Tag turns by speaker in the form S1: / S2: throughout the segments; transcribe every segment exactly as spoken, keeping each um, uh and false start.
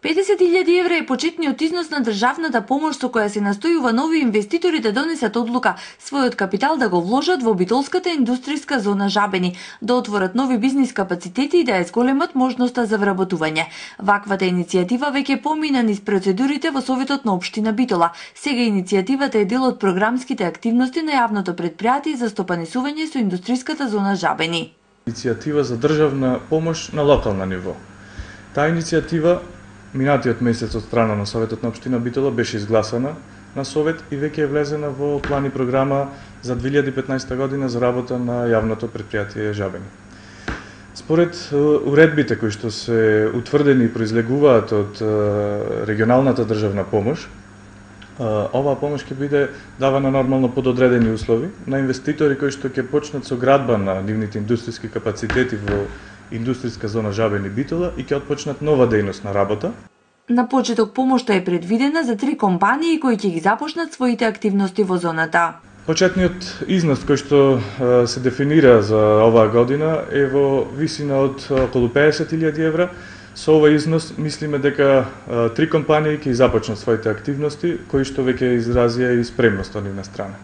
S1: педесет илјади евра е почетниот износ на државната помош со која се настојува нови инвеститори да донесат одлука својот капитал да го вложат во битолската индустријска зона Жабени, да отворат нови бизнис капацитети и да ја зголемат можноста за вработување. Ваквата иницијатива веќе помина низ процедурите во Советот на општина Битола. Сега иницијативата е дел од програмските активности на јавното претпријатие за стопанисување со индустријската зона Жабени.
S2: Иницијатива за државна помош на локална ниво. Таа иницијатива минатиот месец од страна на Советот на општина Битола беше изгласана на Совет и веќе е влезена во план и програма за две илјади и петнаесета година за работа на јавното претпријатие Жабени. Според уредбите кои што се утврдени и произлегуваат од регионалната државна помош, оваа помош ќе биде давана нормално под одредени услови на инвеститори кои што ќе почнат со градба на нивните индустријски капацитети во индустријска зона Жабени Битола и ќе отпочнат нова дејност на работа.
S1: На почеток помошта е предвидена за три компании кои ќе ги започнат своите активности во зоната.
S2: Почетниот износ кој што се дефинира за оваа година е во висина од околу педесет илјади евра. Со овој износ мислиме дека три компании ќе започнат своите активности кои што веќе изразија и спремност од нивна страна.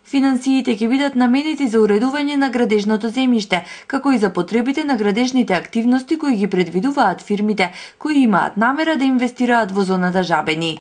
S1: Финансиите ќе бидат наменети за уредување на градежното земјиште, како и за потребите на градежните активности кои ги предвидуваат фирмите кои имаат намера да инвестираат во зоната Жабени.